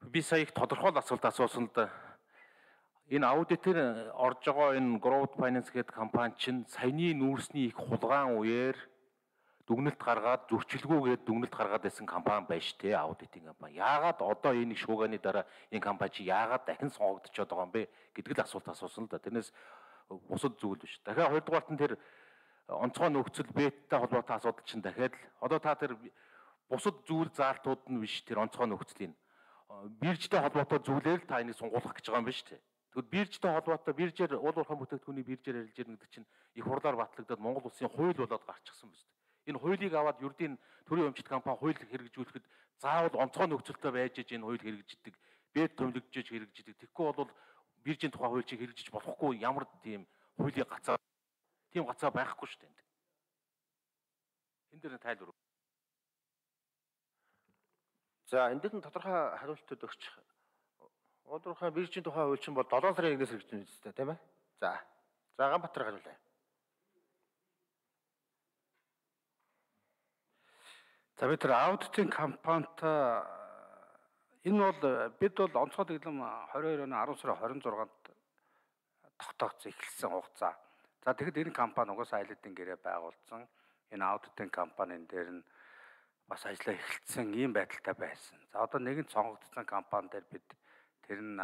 Би сая их тодорхой асуулт асуусан л да. Энэ аудитээр орж байгаа энэ Growth Finance гэдэг компани чинь саяны нүүрсний их хулгаан үеэр дүгнэлт гаргаад зөрчилгүйгээд дүгнэлт гаргаад байсан компани байна шүү дээ, аудитын компани. Яагаад одоо энэ шууганы дараа энэ компани чи яагаад дахин сонгогдчиход байгаа юм бэ гэдэг л асуулт асуусан л да. Тэрнээс бусад зүйл биш. Дахиад хоёрдугаарт нь тэр онцгой нөхцөл беттэй холбоотой асуудал чинь дахиад одоо та тэр бусад зүйл заалтууд нь биш тэр онцгой нөхцөлийн биржтэй холбоотой зүйлээр л та энийг сунгуулах гэж байгаа юм биш үү? Тэгвэл биржтэй холбоотой биржээр уул уурхай бүтээгдэхүүний биржээр арилж ирнэ гэдэг чинь их хурлаар батлагдаад Монгол улсын хууль болоод гарчихсан биз дээ. Энэ хуулийг аваад ердийн төрийн өмчт компани хууль хэрэгжүүлэхэд заавал онцгой нөхцөлтэй байж энэ хууль хэрэгжиждэг, бед төвлөгдөж хэрэгжиждэг. Тэгэхгүй бол биржийн тухай хуулийг хэрэгжиж болохгүй ямар тийм хуулийн гацаа байхгүй шүү дээ. Энэ дээр тайлбар. За энэ дээр нь тодорхой хариултууд өгч. Уул-уурхай биржийн тухай хууль чинь бол 7 сарын 1-ээс хэрэгжиж байна тийм ээ. За Ганбаатар хариулъя. За бид тэр аудитын компанитай энэ бол бид бол онцгой дэглэм 22 оны 10 сарын 26-нд тогтоогдсон эхэлсэн хугацаа. За тэгэхэд энэ компани угаасаа айлдын гэрээ байгуулсан. Энэ аудитын компанийн дээр нь бас ажиллаа эхэлсэн ийм байдалтай байсан. За одоо нэгэн сонгогдсон компани дээр бид тэр нь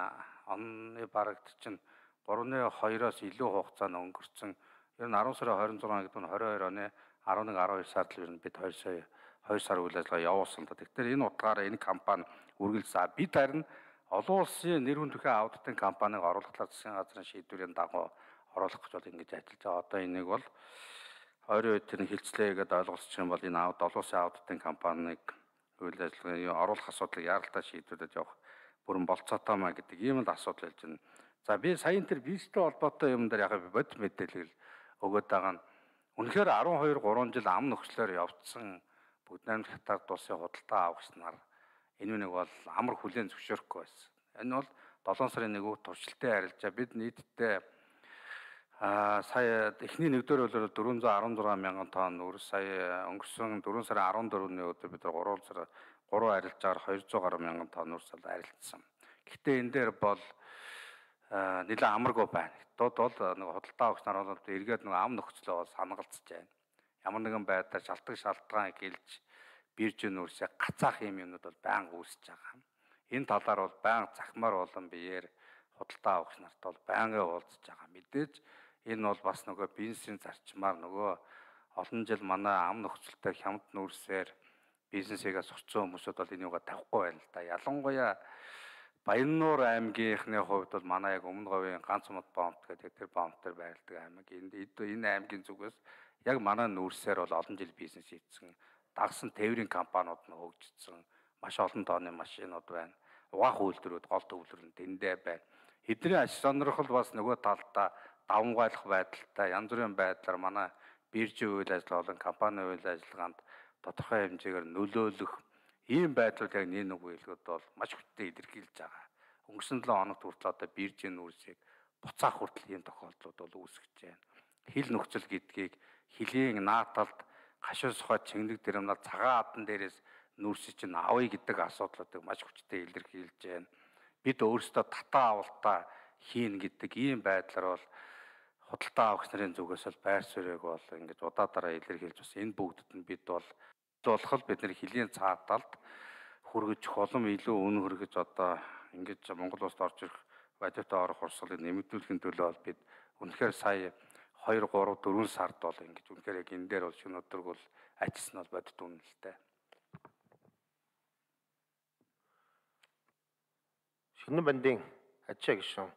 оны барагт чинь 3-2-оос илүү хугацаа нь өнгөрцөн. Ер нь 10 сарын 26 гэдэг нь 22 оны 11-12 сард л ер нь бид 2 сар үйл ажиллагаа явуулсан л да. Тэгэхээр энэ утгаараа энэ компани үргэлжлсэн. Бид харин олон улсын нэр хүндтэй аудитын компаниг оруулахлаар засгийн газрын шийдвэрийн дагуу оруулах гэж бол ингэж ажиллаж байгаа. Одоо энийг бол ойрын үед тэр хилцлээ гэдээ ойлгуулчих юм бол энэ олон улсын аудитын компаниг үйл ажиллагааны оруулах асуудлыг яаралтай шийдвэрлэж явах бүрэн болцоотой маа гэдэг ийм л асуудал хэлж байна. За би саяын тэр биржтэй холбоотой юм дээр яг бод мэдээлэл өгöd байгаа нь үнэхээр 12-3 жил ам нөхцлөөр явцсан Бүгд найрамд хятад улсын худалдаа авагч нар энэ нэг бол амар хүлээн зөвшөөрөхгүй байсан. Энэ бол 7 сарын 1-нд туршилтын арилжаа бид нийтдээ сая эхний 1-р өдрөөр 416 мянган тонн нүүрс, сая өнгөрсөн 4 сарын 14-ний өдөр бид 3 арилжаагаар 200 гаруй мянган тонн нүүрс арилжсан. Гэхдээ энэ дээр бол нэлээд амаргүй байна. Дод бол нэг худалдаа авагч нар бол эргээд нэг ам нөхцлөө бол санагалцж байна. Ямар нэгэн байдлаар шалтгаан гэлж биржийн нүүрсээ гацаах юмнууд бол байнга үүсэж байгаа. Энэ талаар бол байнга захимаар болон биеэр худалдаа авагч нарт бол байнга уулзж байгаа. Мэдээж энэ бол бас нөгөө бизнесийн зарчмаар нөгөө олон жил манай ам нөхцөлтэй хямд нүүрсээр бизнесийгээ сурцсан хүмүүсүүд бол энийг тавихгүй байна л да. Ялангуяа Баяннуур аймгийнхны хувьд бол манай яг Өмнө говийн ганц мод бомбт гэдэг тэр бомб дээр байрладаг аймаг. Энэ аймгийн зүгээс яг манай нүүрсээр бол олон жил бизнес хийсэн. Дагсан тээврийн компаниуд нь хөгжсөн. Маш олон тооны машинууд байна. Угаах үйлдвэрүүд гол төвлөрөл нь тэндээ байна. Эдний аж сонирхол бас нөгөө талдаа давмгайлах байдалтай янз бүрийн байдлаар манай биржийн үйл ажиллагаа болон компани үйл ажиллагаанд тодорхой хэмжээгээр нөлөөлөх ийм байдлууд яг нэг үйлгүүд бол маш хүчтэй илэрхийлж байгаа. Өнгөрсөн 7 хоногт хүртэл одоо биржийн нүүрсийг буцаах хүртэл ийм тохиолдлууд бол үүсгэж байна. Хил нөхцөл гэдгийг хилийн нааталд гашуун сухад чингэнэг дэрэмнал цагаан адан дээрээс нүүрсийг чинь авъя гэдэг асуудлуудыг маш хүчтэй илэрхийлж байна. Бид өөрсдөө татаа авалтаа хийн гэдэг ийм байдлаар бол худалдаа авагч нарын зүгээс бол байр суурийг бол ингэж удаадараа илэрхийлж бас энэ бүгдэд нь бид бол бидний хилийн цааталд хүргэж холом илүү үнэ хүргэж одоо ингэж Монгол улсад орж ирэх бодиттой орох урсгалыг нэмэгдүүлэхийн төлөө бол бид үнэхээр сая 2, 3, 4 сард бол ингэж үнэхээр яг энэ дээр бол шинэ өдрөг бол ажилласан бол бодит үнэ л дээ. Шинэ бандын ачаа гишүүн